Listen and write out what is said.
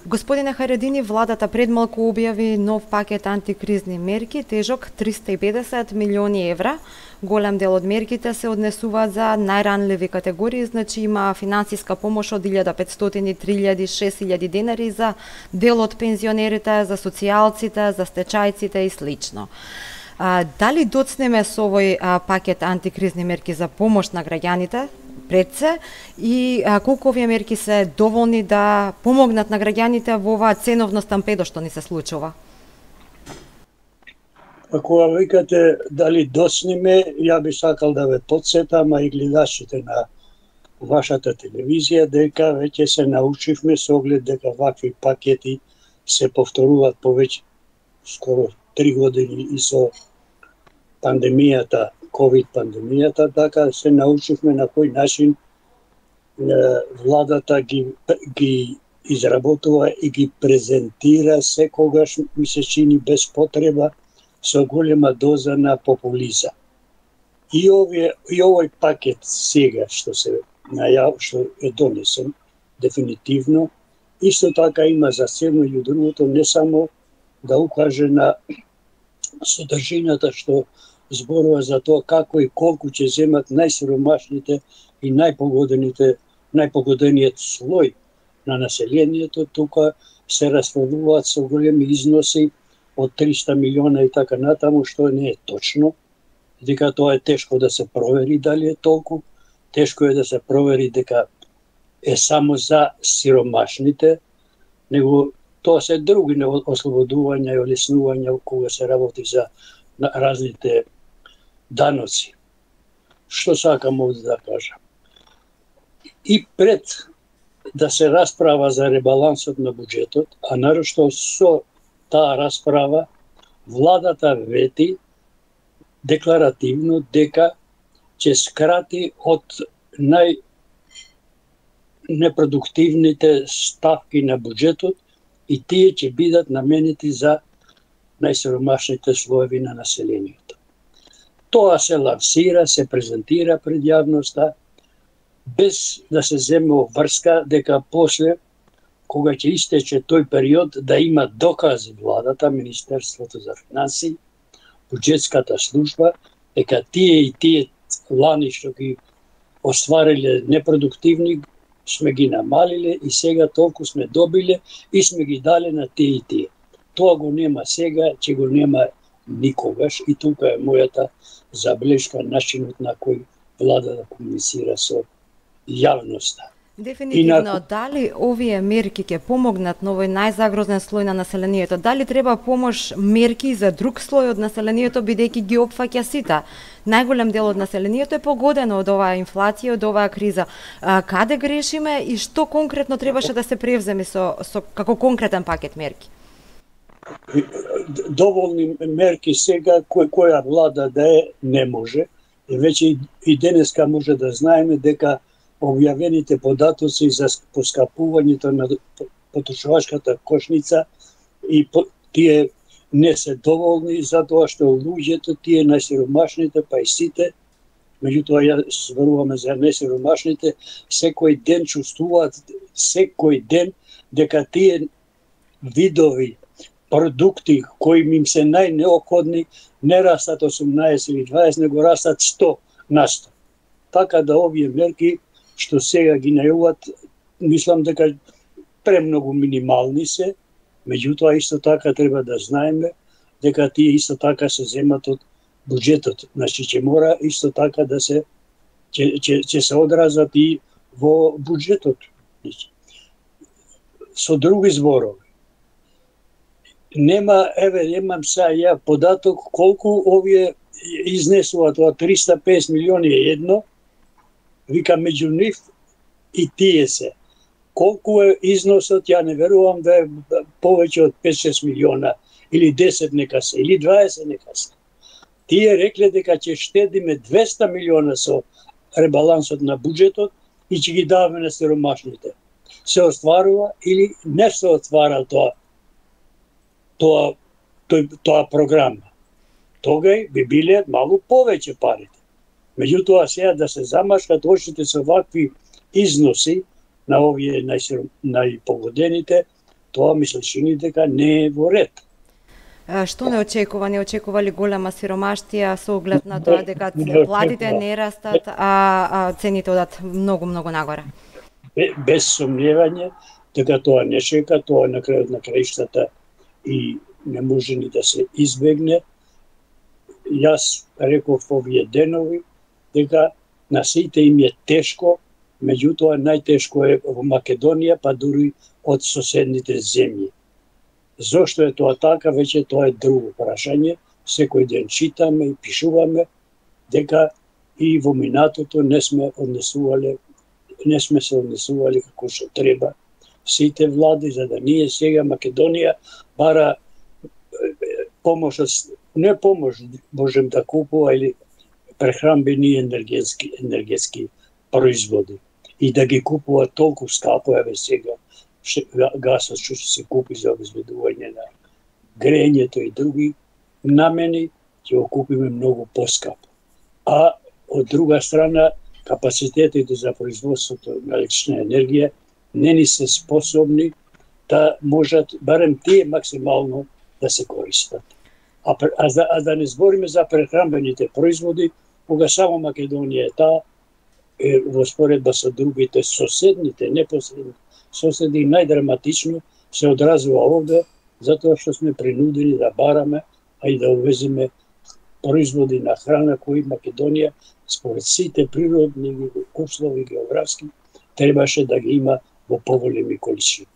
Господине Харедини, владата пред малку објави нов пакет антикризни мерки, тежок 350 милиони евра. Голем дел од мерките се однесуваат за најранливи категории, значи има финансиска помош од 1500, 3000, 6000 денари за дел од пензионерите, за социјалците, за стечајците и слично. Дали доцнеме со овој пакет антикризни мерки за помош на граѓаните пред се и колку овие мерки се доволни да помогнат на граѓаните во оваа ценовно стампедо што ни се случува? Кога викате дали доцнеме, ја би сакал да ве потсетам, а и гледачите на вашата телевизија, дека веќе се научивме со оглед дека вакви пакети се повторуваат повеќе скоро 3 години и со пандемијата, ковид пандемијата, така се научивме на кој начин владата ги изработува и ги презентира секогаш, ми се чини без потреба, со голема доза на популизам. И овој пакет сега што што е донесен дефинитивно, исто така има за цел меѓу другото не само да укаже на содржината што зборува за тоа како и колку ќе земат најсиромашните и најпогодениот слој на населението, тука се расфрлуваат со големи износи од 300 милиона и така натаму, што не е точно, дека тоа е тешко да се провери дали е толку, тешко е да се провери дека е само за сиромашните, него тоа се други ослободувања и олеснувања кога се работи за разните даноци. Што сакам овде да кажам? И пред да се расправа за ребалансот на буџетот, а нарошто со таа расправа, владата вети декларативно дека ќе скрати од непродуктивните ставки на буџетот и тие ќе бидат наменети за најсиромашните слоеви на населението. Тоа се лансира, се презентира пред јавноста, без да се земе врска дека после, кога ќе истече тој период, да има докази владата, Министерството за финансии, буџетската служба, дека тие и тие лани што ги оствариле непродуктивни, сме ги намалиле и сега толку сме добиле и сме ги дале на тие и тие. Тоа го нема сега, ќе го нема никогаш и тука е мојата забелешка, начинот на кој влада да комуницира со јавноста. Дефинитивно, дали овие мерки ќе помогнат на овој најзагрозен слој на населението? Дали треба помош мерки за друг слој од населението, бидејќи ги опфаќа сите? Најголем дел од населението е погодено од оваа инфлација, од оваа криза. Каде грешиме и што конкретно требаше да се превземе со како конкретен пакет мерки? Доволни мерки сега, која влада да е, не може. Веќе и денеска може да знаеме дека објавените податоци за поскапувањето на потрошувачката кошница и тие не се доволни затоа што луѓето, тие најсиромашните, па и сите, меѓутоа ја зборуваме за најсиромашните, секој ден чувствуваат секој ден дека тие видови продукти кои им се најнеопходни не растат 18 или 20, него растат 100%. Така да овие мерки што сега ги најавуваат, мислам дека премногу минимални се, меѓутоа исто така треба да знаеме дека тие исто така се земат од буџетот. Значи ќе мора исто така да се ќе се одразат и во буџетот. Со други зборови, немам сега ја податок колку овие изнесуваат од 350 милиони едно, вика меѓу нив и тие се. Колку е износот, ја не верувам да е повеќе од 5-6 милиона, или 10 нека се, или 20 нека се. Тие рекле дека ќе штедиме 200 милиона со ребалансот на буџетот и ќе ги даваме на сиромашните. Се остварува или не се оствара тоа програма. Тогај би биле малку повеќе парите. Меѓутоа сега да се замашкат очите со вакви износи на овие најпогодените, тоа ми се чини дека не е во ред. Што не очекува? Не очекува ли голема сиромаштија со оглед на тоа дека платите не растат, а цените одат многу нагоре? Без сомневање дека тоа не чека, тоа на крајот на краиштата и не може ни да се избегне. Јас реков овие денови дека на сите им е тешко, меѓутоа најтешко е во Македонија, па дури од соседните земји. Зошто е тоа така, веќе тоа е друго прашање. Секој ден читаме и пишуваме дека и во минатото не сме се однесували како што треба сите влади, за да ние сега Македонија бара помош, не помош можем да купува или прехранбени енергетски производи и да ги купува толку скапо, еве сега гасот што ќе се купи за обезбедување на грејењето и други намени, ќе го купиме многу поскапо. А од друга страна, капацитетите за производството на електрична енергија не ни се способни да можат барем тие максимално да се користат. А да не збориме за прехранбените производи, кога само Македонија е таа, во споредба со другите соседните, непосредни соседи, најдраматично се одразува овде, затоа што сме принудени да бараме, а и да увеземе производи на храна кои Македонија, според сите природни услови географски, требаше да ги има во поголеми количини.